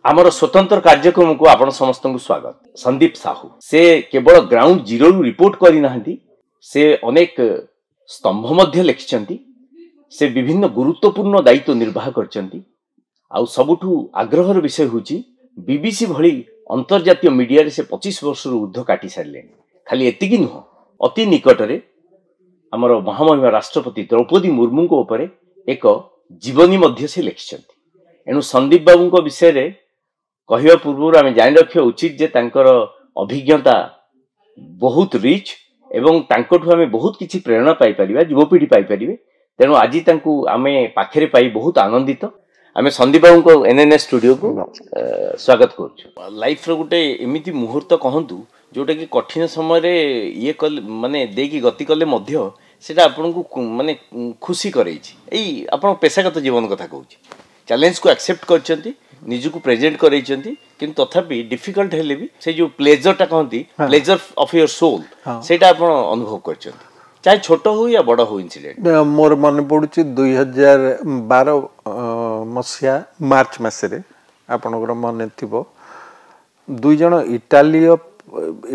ଆମର ସ୍ୱତନ୍ତ୍ର କାର୍ଯ୍ୟକ୍ରମକୁ ଆପଣ ସମସ୍ତଙ୍କୁ ସ୍ୱାଗତ। ସନ୍ଦୀପ ସାହୁ ସେ କେବଳ ଗ୍ରାଉଣ୍ଡ ଜିରୋରୁ ରିପୋର୍ଟ କରିନାହାନ୍ତି, ସେ ଅନେକ ସ୍ତମ୍ଭ ମଧ୍ୟ ଲେଖିଛନ୍ତି। ସେ ବିଭିନ୍ନ ଗୁରୁତ୍ୱପୂର୍ଣ୍ଣ ଦାୟିତ୍ୱ ନିର୍ବାହ କରିଛନ୍ତି। ଆଉ ସବୁଠୁ ଆଗ୍ରହର ବିଷୟ ହେଉଛି ବିବିସି ଭଳି ଅନ୍ତର୍ଜାତୀୟ ମିଡିଆରେ ସେ 25 ବର୍ଷରୁ ଉର୍ଦ୍ଧ୍ୱ କାଟି ସାରିଲେଣି। ଖାଲି ଏତିକି ନୁହଁ, ଅତି ନିକଟରେ ଆମର ମହାମହିମ ରାଷ୍ଟ୍ରପତି ଦ୍ରୌପଦୀ ମୁର୍ମୁଙ୍କ ଉପରେ ଏକ ଜୀବନୀ ମଧ୍ୟ ସେ ଲେଖିଛନ୍ତି। ଏଣୁ ସନ୍ଦୀପ ବାବୁଙ୍କ ବିଷୟରେ କହିବା ପୂର୍ବରୁ ଆମେ ଜାଣି ରଖିବା ଉଚିତ ଯେ ତାଙ୍କର ଅଭିଜ୍ଞତା ବହୁତ ରିଚ୍ ଏବଂ ତାଙ୍କଠୁ ଆମେ ବହୁତ କିଛି ପ୍ରେରଣା ପାଇପାରିବା, ଯୁବପିଢ଼ି ପାଇପାରିବେ। ତେଣୁ ଆଜି ତାଙ୍କୁ ଆମେ ପାଖରେ ପାଇ ବହୁତ ଆନନ୍ଦିତ। ଆମେ ସନ୍ଦୀପ ବାବୁଙ୍କ ଏନ୍ଏନ୍ଏସ୍ ଷ୍ଟୁଡିଓକୁ ସ୍ୱାଗତ କରୁଛୁ। ଲାଇଫର ଗୋଟେ ଏମିତି ମୁହୂର୍ତ୍ତ କହନ୍ତୁ ଯୋଉଟାକି କଠିନ ସମୟରେ ଇଏ କଲେ, ମାନେ ଦେଇକି ଗତି କଲେ ମଧ୍ୟ ସେଇଟା ଆପଣଙ୍କୁ ମାନେ ଖୁସି କରେଇଛି। ଏଇ ଆପଣ ପେଶାଗତ ଜୀବନ କଥା କହୁଛି, ଚ୍ୟାଲେଞ୍ଜକୁ ଆକ୍ସେପ୍ଟ କରିଛନ୍ତି, ନିଜକୁ ପ୍ରେଜେଣ୍ଟ କରେଇଛନ୍ତି, କିନ୍ତୁ ତଥାପି ଡିଫିକଲ୍ଟ ହେଲେ ବି ସେଇ ଯୋଉ ପ୍ଲେଜରଟା କହନ୍ତି, ପ୍ଲେଜର ଅଫ୍ your sole, ସେଇଟା ଆପଣ ଅନୁଭବ କରିଛନ୍ତି, ଚାହେ ଛୋଟ ହଉ ୟା ବଡ଼ ହଉ ଇନସିଡେଣ୍ଟ। ମୋର ମନେ ପଡ଼ୁଛି 2012 ମସିହା ମାର୍ଚ୍ଚ ମାସରେ, ଆପଣଙ୍କର ମନେ ଥିବ, ଦୁଇ ଜଣ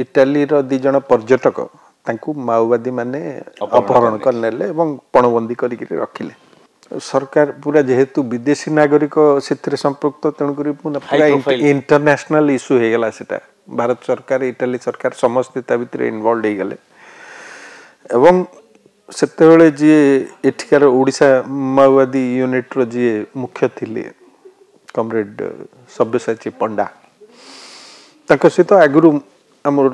ଇଟାଲୀର ଦୁଇ ଜଣ ପର୍ଯ୍ୟଟକ, ତାଙ୍କୁ ମାଓବାଦୀମାନେ ଅପହରଣ କରିନେଲେ ଏବଂ ପଣବନ୍ଦୀ କରିକିରି ରଖିଲେ। ସରକାର ପୁରା, ଯେହେତୁ ବିଦେଶୀ ନାଗରିକ ସେଥିରେ ସମ୍ପୃକ୍ତ, ତେଣୁକରି ପୁରା ଇଣ୍ଟରନ୍ୟାସନାଲ ଇସ୍ୟୁ ହେଇଗଲା ସେଟା। ଭାରତ ସରକାର, ଇଟାଲୀ ସରକାର ସମସ୍ତେ ତା ଭିତରେ ଇନଭଲ୍ଭ ହେଇଗଲେ। ଏବଂ ସେତେବେଳେ ଯିଏ ଏଠିକାର ଓଡ଼ିଶା ମାଓବାଦୀ ୟୁନିଟ୍ର ଯିଏ ମୁଖ୍ୟ ଥିଲେ, କମରେଡ୍ ସବ୍ୟସାଚୀ ପଣ୍ଡା, ତାଙ୍କ ସହିତ ଆଗରୁ ଆମର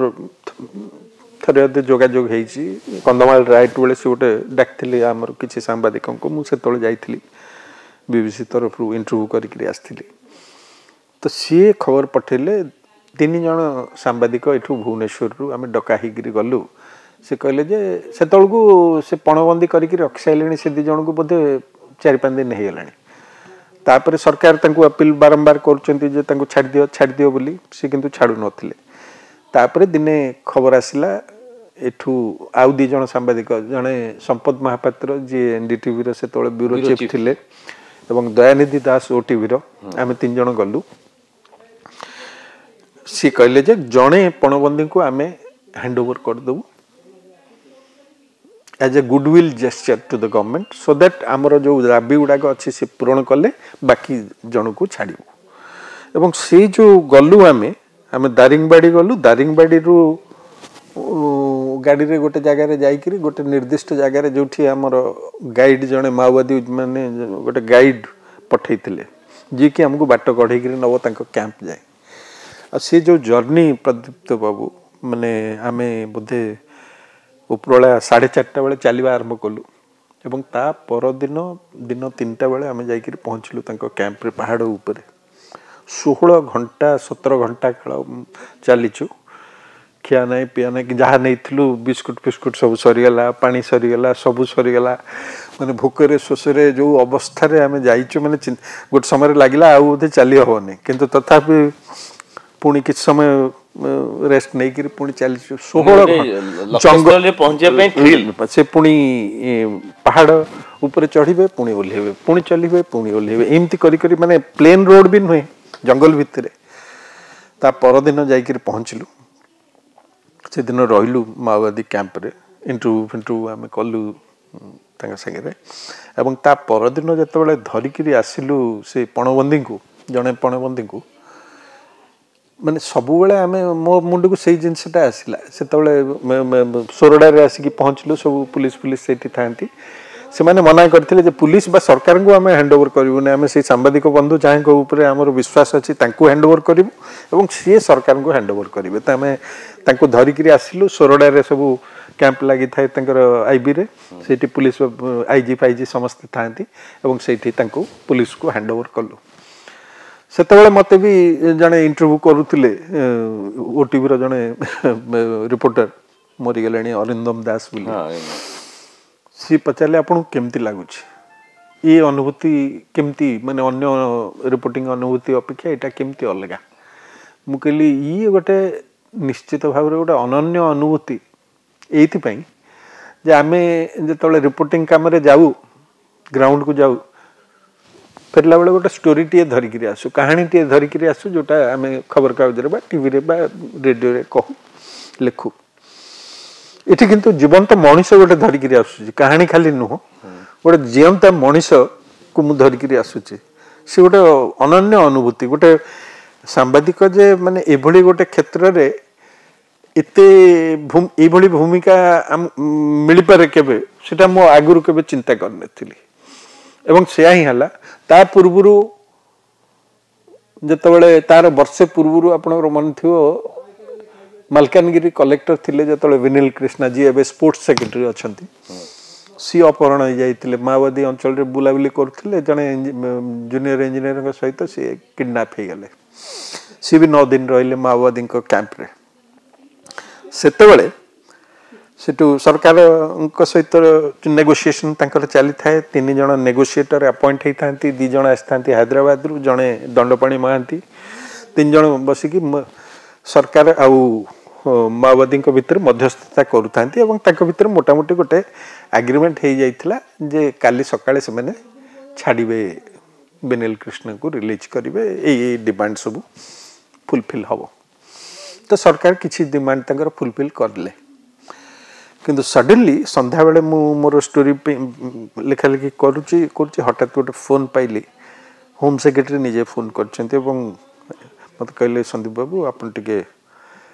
ଥରେ ଅଧେ ଯୋଗାଯୋଗ ହେଇଛି। କନ୍ଧମାଳ ରାଇଟ୍ ବେଳେ ସେ ଗୋଟେ ଡାକିଥିଲେ ଆମର କିଛି ସାମ୍ବାଦିକଙ୍କୁ, ମୁଁ ସେତେବେଳେ ଯାଇଥିଲି, ବିବିସି ତରଫରୁ ଇଣ୍ଟରଭ୍ୟୁ କରିକିରି ଆସିଥିଲି। ତ ସିଏ ଖବର ପଠେଇଲେ, 3 ଜଣ ସାମ୍ବାଦିକ ଏଠୁ ଭୁବନେଶ୍ୱରରୁ ଆମେ ଡକା ହେଇକିରି ଗଲୁ। ସେ କହିଲେ ଯେ ସେତେବେଳକୁ ସେ ପଣବନ୍ଦୀ କରିକି ରଖିସାରିଲେଣି ସେ 2 ଜଣଙ୍କୁ, ବୋଧେ 4-5 ଦିନ ହେଇଗଲାଣି। ତାପରେ ସରକାର ତାଙ୍କୁ ଅପିଲ ବାରମ୍ବାର କରୁଛନ୍ତି ଯେ ତାଙ୍କୁ ଛାଡ଼ିଦିଅ ଛାଡ଼ିଦିଅ ବୋଲି, ସେ କିନ୍ତୁ ଛାଡ଼ୁନଥିଲେ। ତାପରେ ଦିନେ ଖବର ଆସିଲା ଏଠୁ ଆଉ 2 ଜଣ ସାମ୍ବାଦିକ, ଜଣେ ସମ୍ପଦ ମହାପାତ୍ର ଯିଏ ଏନ୍ଡିଟିଭିର ସେତେବେଳେ ବ୍ୟୁରୋ ଚିଫ୍ ଥିଲେ ଏବଂ ଦୟାନିଧି ଦାସ ଓଟିଭିର, ଆମେ 3 ଜଣ ଗଲୁ। ସିଏ କହିଲେ ଯେ ଜଣେ ପଣବନ୍ଦୀଙ୍କୁ ଆମେ ହ୍ୟାଣ୍ଡ ଓଭର କରିଦେବୁ as a goodwill gesture to the government, so that ଆମର ଯେଉଁ ଦାବି ଗୁଡ଼ାକ ଅଛି ସେ ପୂରଣ କଲେ ବାକି ଜଣକୁ ଛାଡ଼ିବୁ। ଏବଂ ସେଇ ଯେଉଁ ଗଲୁ ଆମେ ଦାରିଙ୍ଗବାଡ଼ି ଗଲୁ। ଦାରିଙ୍ଗବାଡ଼ିରୁ ଗାଡ଼ିରେ ଗୋଟେ ଜାଗାରେ ଯାଇକିରି ଗୋଟେ ନିର୍ଦ୍ଦିଷ୍ଟ ଜାଗାରେ ଯେଉଁଠି ଆମର ଗାଇଡ଼ ଜଣେ ମାଓବାଦୀ ମାନେ ଗୋଟେ ଗାଇଡ଼ ପଠେଇଥିଲେ, ଯିଏକି ଆମକୁ ବାଟ କଢ଼େଇକିରି ନେବ ତାଙ୍କ କ୍ୟାମ୍ପ ଯାଏ। ଆଉ ସେ ଯେଉଁ ଜର୍ଣ୍ଣି ପ୍ରଦୀପ୍ତ ବାବୁ, ମାନେ ଆମେ ବୋଧେ ଉପରବେଳା 4:30 ବେଳେ ଚାଲିବା ଆରମ୍ଭ କଲୁ ଏବଂ ତା ପରଦିନ ଦିନ 3ଟା ବେଳେ ଆମେ ଯାଇକିରି ପହଞ୍ଚିଲୁ ତାଙ୍କ କ୍ୟାମ୍ପରେ ପାହାଡ଼ ଉପରେ। 16 ଘଣ୍ଟା 17 ଘଣ୍ଟା କାଳ ଚାଲିଛୁ, ଖିଆ ନାହିଁ ପିଆ ନାହିଁ, ଯାହା ନେଇଥିଲୁ ବିସ୍କୁଟ ଫିସ୍କୁଟ ସବୁ ସରିଗଲା, ପାଣି ସରିଗଲା, ସବୁ ସରିଗଲା। ମାନେ ଭୋକରେ ଶୋଷରେ ଯେଉଁ ଅବସ୍ଥାରେ ଆମେ ଯାଇଛୁ, ମାନେ ଗୋଟେ ସମୟରେ ଲାଗିଲା ଆଉ ବୋଧେ ଚାଲି ହେବନି, କିନ୍ତୁ ତଥାପି ପୁଣି କିଛି ସମୟ ରେଷ୍ଟ ନେଇକିରି ପୁଣି ଚାଲିଛୁ। 16 ଜଙ୍ଗଲରେ ପହଞ୍ଚିବା ପାଇଁ ସେ ପୁଣି ପାହାଡ଼ ଉପରେ ଚଢ଼ିବେ, ପୁଣି ଓହ୍ଲେଇବେ, ପୁଣି ଚାଲିବେ, ପୁଣି ଓହ୍ଲେଇବେ, ଏମିତି କରି କରି, ମାନେ ପ୍ଲେନ୍ ରୋଡ଼ ବି ନୁହେଁ, ଜଙ୍ଗଲ ଭିତରେ। ତା ପରଦିନ ଯାଇକିରି ପହଞ୍ଚିଲୁ। ସେଦିନ ରହିଲୁ ମାଓବାଦୀ କ୍ୟାମ୍ପରେ, ଇଣ୍ଟରଭ୍ୟୁ ଫିଣ୍ଟରଭ୍ୟୁ ଆମେ କଲୁ ତାଙ୍କ ସାଙ୍ଗରେ। ଏବଂ ତା ପରଦିନ ଯେତେବେଳେ ଧରିକିରି ଆସିଲୁ ସେ ପଣବନ୍ଦୀଙ୍କୁ, ଜଣେ ପଣବନ୍ଦୀଙ୍କୁ, ମାନେ ସବୁବେଳେ ଆମେ ମୋ ମୁଣ୍ଡକୁ ସେଇ ଜିନିଷଟା ଆସିଲା। ସେତେବେଳେ ସୋରଡ଼ାରେ ଆସିକି ପହଞ୍ଚିଲୁ, ସବୁ ପୁଲିସ ଫୁଲିସ ସେଇଠି ଥାଆନ୍ତି। ସେମାନେ ମନା କରିଥିଲେ ଯେ ପୁଲିସ ବା ସରକାରଙ୍କୁ ଆମେ ହ୍ୟାଣ୍ଡ ଓଭର କରିବୁନି, ଆମେ ସେଇ ସାମ୍ବାଦିକ ବନ୍ଧୁ ଯାହାଙ୍କ ଉପରେ ଆମର ବିଶ୍ୱାସ ଅଛି ତାଙ୍କୁ ହ୍ୟାଣ୍ଡ ଓଭର କରିବୁ ଏବଂ ସିଏ ସରକାରଙ୍କୁ ହ୍ୟାଣ୍ଡ ଓଭର କରିବେ। ତ ଆମେ ତାଙ୍କୁ ଧରିକିରି ଆସିଲୁ। ସୋରଡ଼ାରେ ସବୁ କ୍ୟାମ୍ପ ଲାଗିଥାଏ ତାଙ୍କର ଆଇବିରେ, ସେଇଠି ପୁଲିସ ଆଇଜି ଫାଇଜି ସମସ୍ତେ ଥାଆନ୍ତି ଏବଂ ସେଇଠି ତାଙ୍କୁ ପୁଲିସକୁ ହ୍ୟାଣ୍ଡ ଓଭର କଲୁ। ସେତେବେଳେ ମୋତେ ବି ଜଣେ ଇଣ୍ଟରଭ୍ୟୁ କରୁଥିଲେ, ଓଟିଭିର ଜଣେ ରିପୋର୍ଟର, ମରିଗଲେଣି, ଅରିନ୍ଦମ ଦାସ ବୋଲି। ସିଏ ପଚାରିଲେ ଆପଣଙ୍କୁ କେମିତି ଲାଗୁଛି ଏ ଅନୁଭୂତି, କେମିତି ମାନେ ଅନ୍ୟ ରିପୋର୍ଟିଂ ଅନୁଭୂତି ଅପେକ୍ଷା ଏଇଟା କେମିତି ଅଲଗା? ମୁଁ କହିଲି ଇଏ ଗୋଟେ ନିଶ୍ଚିତ ଭାବରେ ଗୋଟେ ଅନନ୍ୟ ଅନୁଭୂତି, ଏଇଥିପାଇଁ ଯେ ଆମେ ଯେତେବେଳେ ରିପୋର୍ଟିଂ କାମରେ ଯାଉ, ଗ୍ରାଉଣ୍ଡକୁ ଯାଉ, ଫେରିଲା ବେଳେ ଗୋଟେ ଷ୍ଟୋରିଟିଏ ଧରିକିରି ଆସୁ, କାହାଣୀଟିଏ ଧରିକିରି ଆସୁ, ଯେଉଁଟା ଆମେ ଖବରକାଗଜରେ ବା ଟିଭିରେ ବା ରେଡ଼ିଓରେ କହୁ, ଲେଖୁ। ଏଠି କିନ୍ତୁ ଜୀବନ୍ତ ମଣିଷ ଗୋଟେ ଧରିକିରି ଆସୁଛି, କାହାଣୀ ଖାଲି ନୁହଁ, ଗୋଟେ ଜିଅନ୍ତା ମଣିଷକୁ ମୁଁ ଧରିକିରି ଆସୁଛି। ସେ ଗୋଟେ ଅନନ୍ୟ ଅନୁଭୂତି। ଗୋଟେ ସାମ୍ବାଦିକ ଯେ ମାନେ ଏଭଳି ଗୋଟେ କ୍ଷେତ୍ରରେ ଏତେ ଏଇଭଳି ଭୂମିକା ମିଳିପାରେ କେବେ, ସେଟା ମୁଁ ଆଗରୁ କେବେ ଚିନ୍ତା କରିନଥିଲି ଏବଂ ସେୟା ହିଁ ହେଲା। ତା ପୂର୍ବରୁ ଯେତେବେଳେ, ତାର ବର୍ଷେ ପୂର୍ବରୁ ଆପଣଙ୍କର ମନେ ଥିବ, ମାଲକାନଗିରି କଲେକ୍ଟର ଥିଲେ ଯେତେବେଳେ ବିନିଲ କୃଷ୍ଣା, ଯିଏ ଏବେ ସ୍ପୋର୍ଟସ ସେକ୍ରେଟାରୀ ଅଛନ୍ତି, ସିଏ ଅପହରଣ ହେଇଯାଇଥିଲେ। ମାଓବାଦୀ ଅଞ୍ଚଳରେ ବୁଲାବୁଲି କରୁଥିଲେ, ଜଣେ ଜୁନିୟର ଇଞ୍ଜିନିୟରଙ୍କ ସହିତ ସିଏ କିଡନାପ୍ ହେଇଗଲେ। ସିଏ ବି 9 ଦିନ ରହିଲେ ମାଓବାଦୀଙ୍କ କ୍ୟାମ୍ପରେ। ସେତେବେଳେ ସେଠୁ ସରକାରଙ୍କ ସହିତ ନେଗୋସିଏସନ୍ ତାଙ୍କର ଚାଲିଥାଏ। 3 ଜଣ ନେଗୋସିଏଟର ଆପଏଣ୍ଟ ହେଇଥାନ୍ତି, 2 ଜଣ ଆସିଥାନ୍ତି ହାଇଦ୍ରାବାଦରୁ, ଜଣେ ଦଣ୍ଡପାଣି ମହାନ୍ତି। 3 ଜଣ ବସିକି ସରକାର ଆଉ ମାଓବାଦୀଙ୍କ ଭିତରେ ମଧ୍ୟସ୍ଥତା କରୁଥାନ୍ତି ଏବଂ ତାଙ୍କ ଭିତରେ ମୋଟାମୋଟି ଗୋଟେ ଆଗ୍ରିମେଣ୍ଟ ହେଇଯାଇଥିଲା ଯେ କାଲି ସକାଳେ ସେମାନେ ଛାଡ଼ିବେ, ବିନିଲ କୃଷ୍ଣଙ୍କୁ ରିଲିଜ୍ କରିବେ, ଏଇ ଏଇ ଡିମାଣ୍ଡ ସବୁ ଫୁଲଫିଲ୍ ହେବ। ତ ସରକାର କିଛି ଡିମାଣ୍ଡ ତାଙ୍କର ଫୁଲଫିଲ୍ କରିଲେ, କିନ୍ତୁ ସଡନଲି ସନ୍ଧ୍ୟାବେଳେ ମୁଁ ମୋର ଷ୍ଟୋରି ଲେଖାଲେଖି କରୁଛି କରୁଛି, ହଠାତ୍ ଗୋଟେ ଫୋନ୍ ପାଇଲି। ହୋମ୍ ସେକ୍ରେଟାରୀ ନିଜେ ଫୋନ୍ କରିଛନ୍ତି ଏବଂ ମୋତେ କହିଲେ, ସନ୍ଦୀପ ବାବୁ ଆପଣ ଟିକେ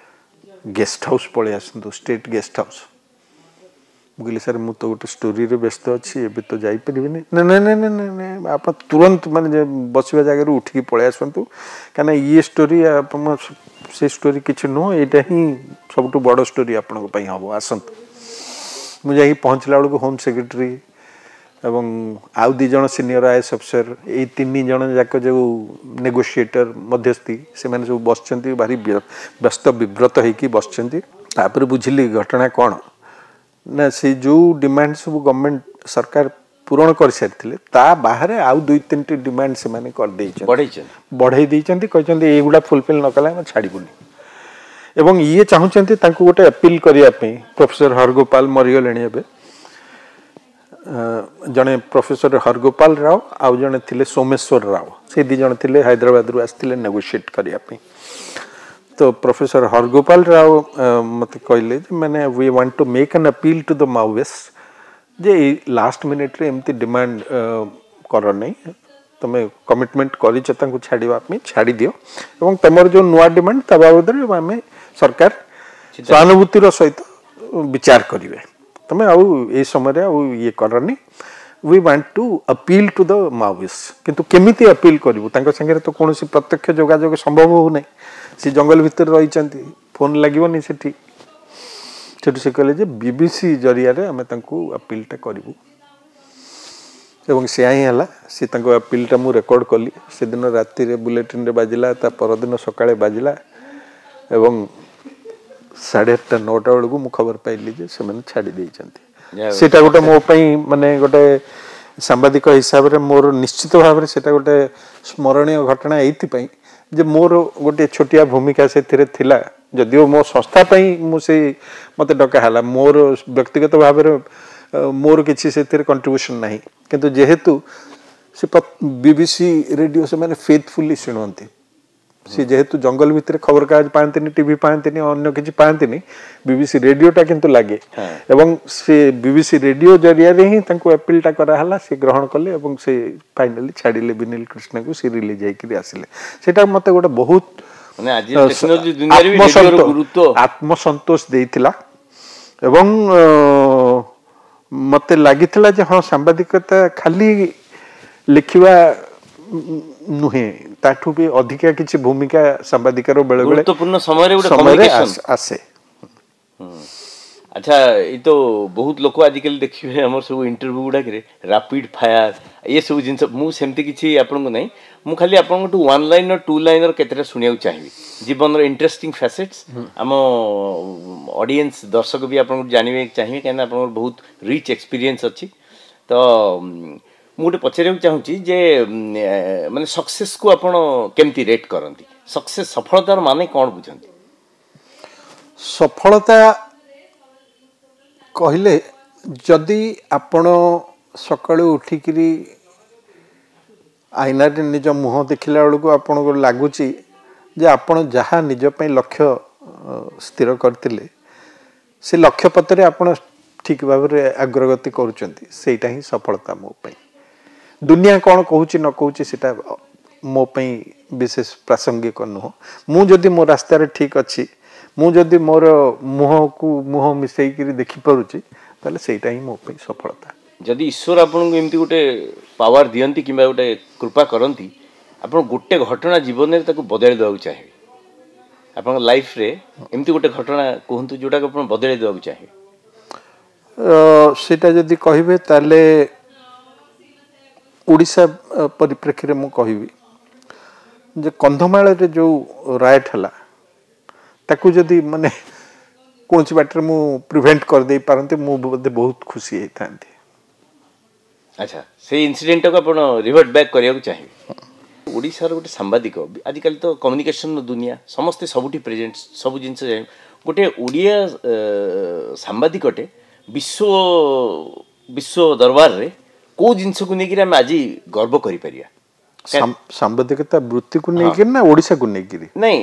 ଗେଷ୍ଟ ହାଉସ୍ ପଳେଇ ଆସନ୍ତୁ, ଷ୍ଟେଟ୍ ଗେଷ୍ଟ ହାଉସ୍। ମୁଁ କହିଲି ସାର୍ ମୁଁ ତ ଗୋଟେ ଷ୍ଟୋରିରେ ବ୍ୟସ୍ତ ଅଛି, ଏବେ ତ ଯାଇପାରିବିନି। ନା ନା ନା ନା ନା, ଆପଣ ତୁରନ୍ତ ମାନେ ବସିବା ଜାଗାରୁ ଉଠିକି ପଳେଇ ଆସନ୍ତୁ, କାହିଁକିନା ଇଏ ଷ୍ଟୋରି ଆପଣ ସେ ଷ୍ଟୋରି କିଛି ନୁହଁ, ଏଇଟା ହିଁ ସବୁଠୁ ବଡ଼ ଷ୍ଟୋରି ଆପଣଙ୍କ ପାଇଁ ହେବ, ଆସନ୍ତୁ। ମୁଁ ଯାଇକି ପହଞ୍ଚିଲା ବେଳକୁ ହୋମ୍ ସେକ୍ରେଟାରୀ ଏବଂ ଆଉ 2 ଜଣ ସିନିୟର ଆଇଏଏସ୍ ଅଫିସର, ଏଇ 3 ଜଣ ଯାକ ଯେଉଁ ନେଗୋସିଏଟର ମଧ୍ୟସ୍ଥି, ସେମାନେ ସବୁ ବସିଛନ୍ତି, ଭାରି ବ୍ୟସ୍ତ ବିବ୍ରତ ହେଇକି ବସିଛନ୍ତି। ତାପରେ ବୁଝିଲି ଘଟଣା କ'ଣ ନା, ସେ ଯେଉଁ ଡିମାଣ୍ଡ ସବୁ ଗଭର୍ଣ୍ଣମେଣ୍ଟ ସରକାର ପୂରଣ କରିସାରିଥିଲେ, ତା ବାହାରେ ଆଉ 2-3ଟି ଡିମାଣ୍ଡ ସେମାନେ କରିଦେଇଛନ୍ତି, ବଢ଼େଇ ଦେଇଛନ୍ତି। କହିଛନ୍ତି ଏଇଗୁଡ଼ା ଫୁଲଫିଲ୍ ନ କଲେ ଆମେ ଛାଡ଼ିବୁନି। ଏବଂ ଇଏ ଚାହୁଁଛନ୍ତି ତାଙ୍କୁ ଗୋଟେ ଆପିଲ୍ କରିବା ପାଇଁ। ପ୍ରଫେସର ହରଗୋପାଲ ମରିଗଲେଣି ଏବେ, ଜଣେ ପ୍ରଫେସର ହରଗୋପାଲ ରାଓ ଆଉ ଜଣେ ଥିଲେ ସୋମେଶ୍ୱର ରାଓ, ସେ 2 ଜଣ ଥିଲେ ହାଇଦ୍ରାବାଦରୁ ଆସିଥିଲେ ନେଗୋସିଏଟ୍ କରିବା ପାଇଁ। ତ ପ୍ରଫେସର ହରଗୋପାଲ ରାଓ ମୋତେ କହିଲେ ଯେ ମାନେ we want to make an appeal to the Maoist ଯେ ଏଇ ଲାଷ୍ଟ ମିନିଟ୍ରେ ଏମିତି ଡିମାଣ୍ଡ କର ନାହିଁ, ତୁମେ କମିଟମେଣ୍ଟ କରିଛ ତାଙ୍କୁ ଛାଡ଼ିବା ପାଇଁ, ଛାଡ଼ିଦିଅ ଏବଂ ତୁମର ଯେଉଁ ନୂଆ ଡିମାଣ୍ଡ ତା ବାବଦରେ ଆମେ ସରକାର ସହାନୁଭୂତିର ସହିତ ବିଚାର କରିବେ, ତୁମେ ଆଉ ଏଇ ସମୟରେ ଆଉ ଇଏ କରନି। We want to appeal to the Maoist. କିନ୍ତୁ କେମିତି ଅପିଲ୍ କରିବୁ, ତାଙ୍କ ସାଙ୍ଗରେ ତ କୌଣସି ପ୍ରତ୍ୟକ୍ଷ ଯୋଗାଯୋଗ ସମ୍ଭବ ହେଉନାହିଁ, ସେ ଜଙ୍ଗଲ ଭିତରେ ରହିଛନ୍ତି, ଫୋନ୍ ଲାଗିବନି ସେଠି। ସେଠୁ ସେ କହିଲେ ଯେ ବିବିସି ଜରିଆରେ ଆମେ ତାଙ୍କୁ ଅପିଲ୍ଟା କରିବୁ ଏବଂ ସେୟା ହିଁ ହେଲା। ସେ ତାଙ୍କ ଅପିଲ୍ଟା ମୁଁ ରେକର୍ଡ଼ କଲି, ସେଦିନ ରାତିରେ ବୁଲେଟିନ୍ରେ ବାଜିଲା, ତା ପରଦିନ ସକାଳେ ବାଜିଲା ଏବଂ 8:30 9ଟା ବେଳକୁ ମୁଁ ଖବର ପାଇଲି ଯେ ସେମାନେ ଛାଡ଼ି ଦେଇଛନ୍ତି। ସେଇଟା ଗୋଟେ ମୋ ପାଇଁ ମାନେ ଗୋଟେ ସାମ୍ବାଦିକ ହିସାବରେ ମୋର ନିଶ୍ଚିତ ଭାବରେ ସେଇଟା ଗୋଟେ ସ୍ମରଣୀୟ ଘଟଣା, ଏଇଥିପାଇଁ ଯେ ମୋର ଗୋଟେ ଛୋଟିଆ ଭୂମିକା ସେଥିରେ ଥିଲା। ଯଦିଓ ମୋ ସଂସ୍ଥା ପାଇଁ ମୁଁ ସେଇ ମୋତେ ଡକା ହେଲା, ମୋର ବ୍ୟକ୍ତିଗତ ଭାବରେ ମୋର କିଛି ସେଥିରେ କଣ୍ଟ୍ରିବ୍ୟୁସନ୍ ନାହିଁ, କିନ୍ତୁ ଯେହେତୁ ସେ ବିବିସି ରେଡ଼ିଓ ସେମାନେ ଫେଥଫୁଲି ଶୁଣନ୍ତି, ସେ ଯେହେତୁ ଜଙ୍ଗଲ ଭିତରେ ଖବରକାଗଜ ପାଆନ୍ତିନି, ଟିଭି ପାଆନ୍ତିନି, ଅନ୍ୟ କିଛି ପାଆନ୍ତିନି, ବିବିସି ରେଡ଼ିଓଟା କିନ୍ତୁ ଲାଗେ ଏବଂ ସେ ବିବିସି ରେଡ଼ିଓ ଜରିଆରେ ହିଁ ତାଙ୍କୁ ଆପିଲ୍ଟା କରାହେଲା, ସେ ଗ୍ରହଣ କଲେ ଏବଂ ସେ ଫାଇନାଲି ଛାଡ଼ିଲେ ବିନିଲ କୃଷ୍ଣକୁ, ସେ ରିଲିଜ୍ ହେଇକିରି ଆସିଲେ। ସେଇଟା ମୋତେ ଗୋଟେ ବହୁତ ଆତ୍ମସନ୍ତୋଷ ଦେଇଥିଲା ଏବଂ ମୋତେ ଲାଗିଥିଲା ଯେ ହଁ, ସାମ୍ବାଦିକତା ଖାଲି ଲେଖିବା ନୁହେଁ, ତାଠୁ ବି ଅଧିକା କିଛି ଭୂମିକା ସାମ୍ବାଦିକର ବେଳେବେଳେ ଗୁରୁତ୍ୱପୂର୍ଣ୍ଣ ସମୟରେ ଗୋଟେ ଆସେ। ଆଚ୍ଛା, ଏଇ ତ ବହୁତ ଲୋକ ଆଜିକାଲି ଦେଖିବେ ଆମର ସବୁ ଇଣ୍ଟରଭ୍ୟୁ ଗୁଡ଼ାକରେ ରାପିଡ୍ ଫାୟାର ଏସବୁ ଜିନିଷ, ମୁଁ ସେମିତି କିଛି ଆପଣଙ୍କୁ ନାହିଁ, ମୁଁ ଖାଲି ଆପଣଙ୍କଠୁ 1 ଲାଇନର 2 ଲାଇନର କେତେଟା ଶୁଣିବାକୁ ଚାହିଁବି, ଜୀବନର ଇଣ୍ଟରେଷ୍ଟିଂ ଫ୍ୟାସେଟ୍ସ ଆମ ଅଡ଼ିଏନ୍ସ ଦର୍ଶକ ବି ଆପଣଙ୍କୁ ଜାଣିବାକୁ ଚାହିଁବେ, କାହିଁକିନା ଆପଣଙ୍କର ବହୁତ ରିଚ୍ ଏକ୍ସପିରିଏନ୍ସ ଅଛି। ତ ମୁଁ ଗୋଟେ ପଚାରିବାକୁ ଚାହୁଁଛି ଯେ ମାନେ ସକ୍ସେସକୁ ଆପଣ କେମିତି ରେଟ୍ କରନ୍ତି? ସକ୍ସେସ୍, ସଫଳତାର ମାନେ କ'ଣ ବୁଝନ୍ତି? ସଫଳତା କହିଲେ ଯଦି ଆପଣ ସକାଳୁ ଉଠିକିରି ଆଇନାରେ ନିଜ ମୁହଁ ଦେଖିଲା ବେଳକୁ ଆପଣଙ୍କୁ ଲାଗୁଛି ଯେ ଆପଣ ଯାହା ନିଜ ପାଇଁ ଲକ୍ଷ୍ୟ ସ୍ଥିର କରିଥିଲେ ସେ ଲକ୍ଷ୍ୟ ପଥରେ ଆପଣ ଠିକ୍ ଭାବରେ ଅଗ୍ରଗତି କରୁଛନ୍ତି, ସେଇଟା ହିଁ ସଫଳତା ମୋ ପାଇଁ। ଦୁନିଆ କ'ଣ କହୁଛି ନ କହୁଛି ସେଇଟା ମୋ ପାଇଁ ବିଶେଷ ପ୍ରାସଙ୍ଗିକ ନୁହଁ। ମୁଁ ଯଦି ମୋ ରାସ୍ତାରେ ଠିକ୍ ଅଛି, ମୁଁ ଯଦି ମୋର ମୁହଁକୁ ମୁହଁ ମିଶେଇକିରି ଦେଖିପାରୁଛି, ତାହେଲେ ସେଇଟା ହିଁ ମୋ ପାଇଁ ସଫଳତା। ଯଦି ଈଶ୍ୱର ଆପଣଙ୍କୁ ଏମିତି ଗୋଟେ ପାୱାର ଦିଅନ୍ତି କିମ୍ବା ଗୋଟେ କୃପା କରନ୍ତି, ଆପଣ ଗୋଟେ ଘଟଣା ଜୀବନରେ ତାକୁ ବଦଳାଇ ଦେବାକୁ ଚାହିଁବେ, ଆପଣଙ୍କ ଲାଇଫରେ ଏମିତି ଗୋଟେ ଘଟଣା କୁହନ୍ତୁ ଯେଉଁଟାକୁ ଆପଣ ବଦଳାଇ ଦେବାକୁ ଚାହିଁବେ। ସେଇଟା ଯଦି କହିବେ ତାହେଲେ ଓଡ଼ିଶା ପରିପ୍ରେକ୍ଷୀରେ ମୁଁ କହିବି ଯେ କନ୍ଧମାଳରେ ଯେଉଁ ରାୟଟ୍ ହେଲା ତାକୁ ଯଦି ମାନେ କୌଣସି ବାଟରେ ମୁଁ ପ୍ରିଭେଣ୍ଟ କରିଦେଇ ପାରନ୍ତି, ମୁଁ ବୋଧେ ବହୁତ ଖୁସି ହେଇଥାନ୍ତି। ଆଚ୍ଛା, ସେଇ ଇନସିଡେଣ୍ଟଟାକୁ ଆପଣ ରିଭର୍ଟ ବ୍ୟାକ୍ କରିବାକୁ ଚାହିଁବେ। ଓଡ଼ିଶାର ଗୋଟେ ସାମ୍ବାଦିକ, ଆଜିକାଲି ତ କମ୍ୟୁନିକେସନର ଦୁନିଆ, ସମସ୍ତେ ସବୁଠି ପ୍ରେଜେଣ୍ଟ, ସବୁ ଜିନିଷ ଜାଣି, ଗୋଟେ ଓଡ଼ିଆ ସାମ୍ବାଦିକଟେ ବିଶ୍ୱ ବିଶ୍ୱ ଦରବାରରେ କେଉଁ ଜିନିଷକୁ ନେଇକିରି ଆମେ ଆଜି ଗର୍ବ କରିପାରିବା? ସାମ୍ବାଦିକତା ବୃତ୍ତିକୁ ନେଇକିରି ନା ଓଡ଼ିଶାକୁ ନେଇକିରି? ନାଇଁ,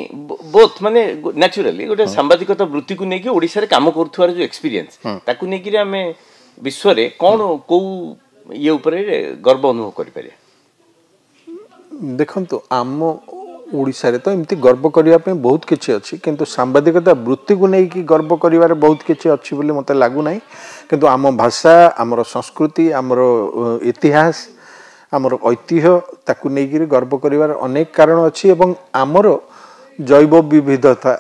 ବୋଥ୍। ମାନେ ନ୍ୟାଚୁରାଲି ଗୋଟେ ସାମ୍ବାଦିକତା ବୃତ୍ତିକୁ ନେଇକି ଓଡ଼ିଶାରେ କାମ କରୁଥିବାର ଯେଉଁ ଏକ୍ସପିରିଏନ୍ସ, ତାକୁ ନେଇକିରି ଆମେ ବିଶ୍ୱରେ କ'ଣ କେଉଁ ଇଏ ଉପରେ ଗର୍ବ ଅନୁଭବ କରିପାରିବା? ଦେଖନ୍ତୁ, ଆମ ଓଡ଼ିଶାରେ ତ ଏମିତି ଗର୍ବ କରିବା ପାଇଁ ବହୁତ କିଛି ଅଛି, କିନ୍ତୁ ସାମ୍ବାଦିକତା ବୃତ୍ତିକୁ ନେଇକି ଗର୍ବ କରିବାରେ ବହୁତ କିଛି ଅଛି ବୋଲି ମୋତେ ଲାଗୁନାହିଁ। କିନ୍ତୁ ଆମ ଭାଷା, ଆମର ସଂସ୍କୃତି, ଆମର ଇତିହାସ, ଆମର ଐତିହ୍ୟ, ତାକୁ ନେଇକିରି ଗର୍ବ କରିବାର ଅନେକ କାରଣ ଅଛି। ଏବଂ ଆମର ଜୈବ ବିବିଧତା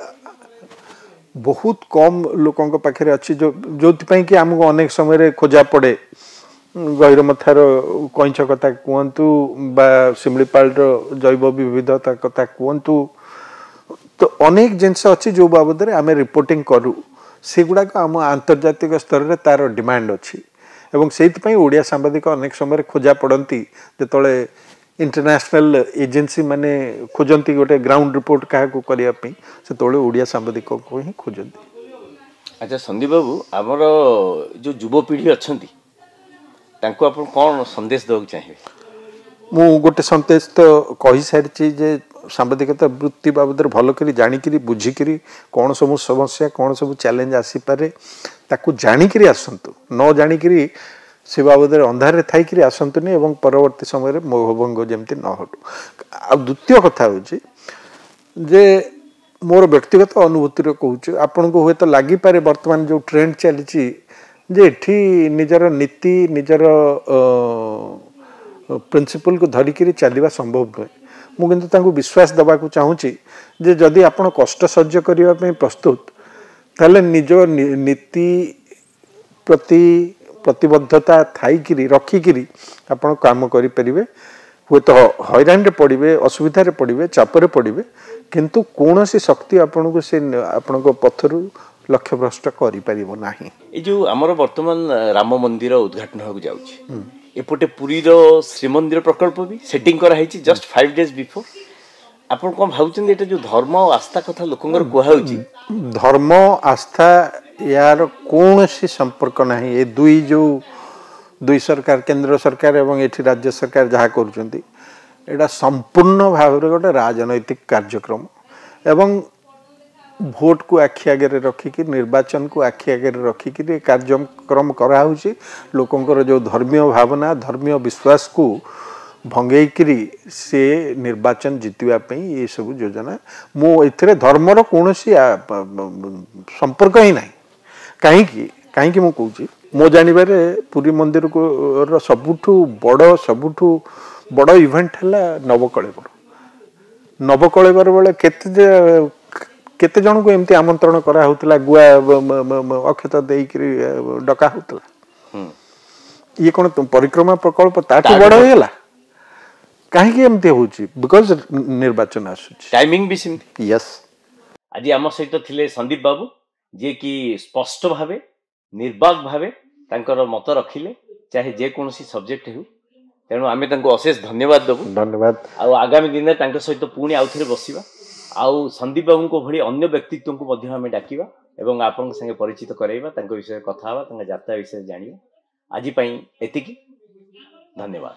ବହୁତ କମ୍ ଲୋକଙ୍କ ପାଖରେ ଅଛି, ଯେଉଁଥିପାଇଁ କି ଆମକୁ ଅନେକ ସମୟରେ ଖୋଜା ପଡ଼େ। ଗହିରମଥାର କଇଁଛ କଥା କୁହନ୍ତୁ ବା ଶିମିଳିପାଳର ଜୈବ ବିବିଧତା କଥା କୁହନ୍ତୁ, ତ ଅନେକ ଜିନିଷ ଅଛି ଯେଉଁ ବାବଦରେ ଆମେ ରିପୋର୍ଟିଂ କରୁ, ସେଗୁଡ଼ାକ ଆମ ଆନ୍ତର୍ଜାତିକ ସ୍ତରରେ ତାର ଡିମାଣ୍ଡ ଅଛି। ଏବଂ ସେଇଥିପାଇଁ ଓଡ଼ିଆ ସାମ୍ବାଦିକ ଅନେକ ସମୟରେ ଖୋଜା ପଡ଼ନ୍ତି। ଯେତେବେଳେ ଇଣ୍ଟରନ୍ୟାସନାଲ ଏଜେନ୍ସି ମାନେ ଖୋଜନ୍ତି ଗୋଟେ ଗ୍ରାଉଣ୍ଡ ରିପୋର୍ଟ କାହାକୁ କରିବା ପାଇଁ, ସେତେବେଳେ ଓଡ଼ିଆ ସାମ୍ବାଦିକଙ୍କୁ ହିଁ ଖୋଜନ୍ତି। ଆଚ୍ଛା ସନ୍ଦୀପ ବାବୁ, ଆମର ଯେଉଁ ଯୁବପିଢ଼ି ଅଛନ୍ତି ତାଙ୍କୁ ଆପଣ କ'ଣ ସନ୍ଦେଶ ଦେବାକୁ ଚାହିଁବେ? ମୁଁ ଗୋଟେ ସନ୍ଦେଶ ତ କହିସାରିଛି ଯେ ସାମ୍ବାଦିକତା ବୃତ୍ତି ବାବଦରେ ଭଲ କରି ଜାଣିକିରି ବୁଝିକିରି କ'ଣ ସବୁ ସମସ୍ୟା, କ'ଣ ସବୁ ଚ୍ୟାଲେଞ୍ଜ ଆସିପାରେ ତାକୁ ଜାଣିକିରି ଆସନ୍ତୁ, ନ ଜାଣିକିରି ସେ ବାବଦରେ ଅନ୍ଧାରରେ ଥାଇକିରି ଆସନ୍ତୁନି ଏବଂ ପରବର୍ତ୍ତୀ ସମୟରେ ମୋହଭଙ୍ଗ ଯେମିତି ନ ହଉ। ଆଉ ଦ୍ୱିତୀୟ କଥା ହେଉଛି ଯେ ମୋର ବ୍ୟକ୍ତିଗତ ଅନୁଭୂତିରେ କହୁଛି, ଆପଣଙ୍କୁ ହୁଏତ ଲାଗିପାରେ ବର୍ତ୍ତମାନ ଯେଉଁ ଟ୍ରେଣ୍ଡ ଚାଲିଛି ଯେ ଏଠି ନିଜର ନୀତି, ନିଜର ପ୍ରିନ୍ସିପଲକୁ ଧରିକିରି ଚାଲିବା ସମ୍ଭବ ନୁହେଁ। ମୁଁ କିନ୍ତୁ ତାଙ୍କୁ ବିଶ୍ୱାସ ଦେବାକୁ ଚାହୁଁଛି ଯେ ଯଦି ଆପଣ କଷ୍ଟ ସହ୍ୟ କରିବା ପାଇଁ ପ୍ରସ୍ତୁତ, ତାହେଲେ ନିଜ ନୀତି ପ୍ରତି ପ୍ରତିବଦ୍ଧତା ଥାଇକିରି ରଖିକିରି ଆପଣ କାମ କରିପାରିବେ। ହୁଏତ ହଇରାଣରେ ପଡ଼ିବେ, ଅସୁବିଧାରେ ପଡ଼ିବେ, ଚାପରେ ପଡ଼ିବେ, କିନ୍ତୁ କୌଣସି ଶକ୍ତି ଆପଣଙ୍କୁ ସେ ଆପଣଙ୍କ ପଥରୁ ଲକ୍ଷ୍ୟଭ୍ରଷ୍ଟ କରିପାରିବ ନାହିଁ। ଏଇ ଯେଉଁ ଆମର ବର୍ତ୍ତମାନ ରାମ ମନ୍ଦିର ଉଦ୍ଘାଟନ ହେବାକୁ ଯାଉଛି, ଏପଟେ ପୁରୀର ଶ୍ରୀମନ୍ଦିର ପ୍ରକଳ୍ପ ବି ସେଟିଂ କରାହେଇଛି ଜଷ୍ଟ 5 ଡେଜ୍ ବିଫୋର୍, ଆପଣ କ'ଣ ଭାବୁଛନ୍ତି ଏଇଟା ଯେଉଁ ଧର୍ମ ଆଉ ଆସ୍ଥା କଥା ଲୋକଙ୍କର କୁହାହେଉଛି? ଧର୍ମ ଆସ୍ଥା ୟାର କୌଣସି ସମ୍ପର୍କ ନାହିଁ। ଏ ଦୁଇ ଯେଉଁ ଦୁଇ ସରକାର, କେନ୍ଦ୍ର ସରକାର ଏବଂ ଏଠି ରାଜ୍ୟ ସରକାର ଯାହା କରୁଛନ୍ତି, ଏଇଟା ସମ୍ପୂର୍ଣ୍ଣ ଭାବରେ ଗୋଟେ ରାଜନୈତିକ କାର୍ଯ୍ୟକ୍ରମ ଏବଂ ଭୋଟକୁ ଆଖି ଆଗରେ ରଖିକି, ନିର୍ବାଚନକୁ ଆଖି ଆଗରେ ରଖିକିରି ଏ କାର୍ଯ୍ୟକ୍ରମ କରାହେଉଛି। ଲୋକଙ୍କର ଯେଉଁ ଧର୍ମୀୟ ଭାବନା, ଧର୍ମୀୟ ବିଶ୍ୱାସକୁ ଭଙ୍ଗେଇକିରି ସେ ନିର୍ବାଚନ ଜିତିବା ପାଇଁ ଏସବୁ ଯୋଜନା। ମୁଁ ଏଥିରେ ଧର୍ମର କୌଣସି ସମ୍ପର୍କ ହିଁ ନାହିଁ। କାହିଁକି ମୁଁ କହୁଛି, ମୋ ଜାଣିବାରେ ପୁରୀ ମନ୍ଦିରକୁ ସବୁଠୁ ବଡ଼ ଇଭେଣ୍ଟ ହେଲା ନବକଳେବର। ନବକଳେବର ବେଳେ କେତେ ଜଣଙ୍କୁ ଏମିତି ଆମନ୍ତ୍ରଣ କରାହେଉଥିଲା, ଗୁଆ ଅକ୍ଷତ ଦେଇକିରି ଡକା ହେଉଥିଲା। ଇଏ କ'ଣ ପରିକ୍ରମା ପ୍ରକଳ୍ପ ତାଠୁ ବଡ଼ ହେଇଗଲା? କାହିଁକି ଏମିତି ହେଉଛି? Because ନିର୍ବାଚନ ଆସୁଛି, ଟାଇମିଂ ବି ସେମିତି। ୟେସ୍। ଆଜି ଆମ ସହିତ ଥିଲେ ସନ୍ଦୀପ ବାବୁ, ଯିଏକି ସ୍ପଷ୍ଟ ଭାବେ ନିର୍ବାକ ଭାବେ ତାଙ୍କର ମତ ରଖିଲେ, ଚାହେ ଯେକୌଣସି ସବଜେକ୍ଟ ହେଉ। ତେଣୁ ଆମେ ତାଙ୍କୁ ଅଶେଷ ଧନ୍ୟବାଦ ଦେବୁ। ଧନ୍ୟବାଦ। ଆଉ ଆଗାମୀ ଦିନରେ ତାଙ୍କ ସହିତ ପୁଣି ଆଉ ଥରେ ବସିବା, ଆଉ ସନ୍ଦୀପ ବାବୁଙ୍କ ଭଳି ଅନ୍ୟ ବ୍ୟକ୍ତିତ୍ୱଙ୍କୁ ମଧ୍ୟ ଆମେ ଡାକିବା ଏବଂ ଆପଣଙ୍କ ସାଙ୍ଗେ ପରିଚିତ କରାଇବା, ତାଙ୍କ ବିଷୟରେ କଥା ହେବା, ତାଙ୍କ ଯାତ୍ରା ବିଷୟରେ ଜାଣିବା। ଆଜି ପାଇଁ ଏତିକି, ଧନ୍ୟବାଦ।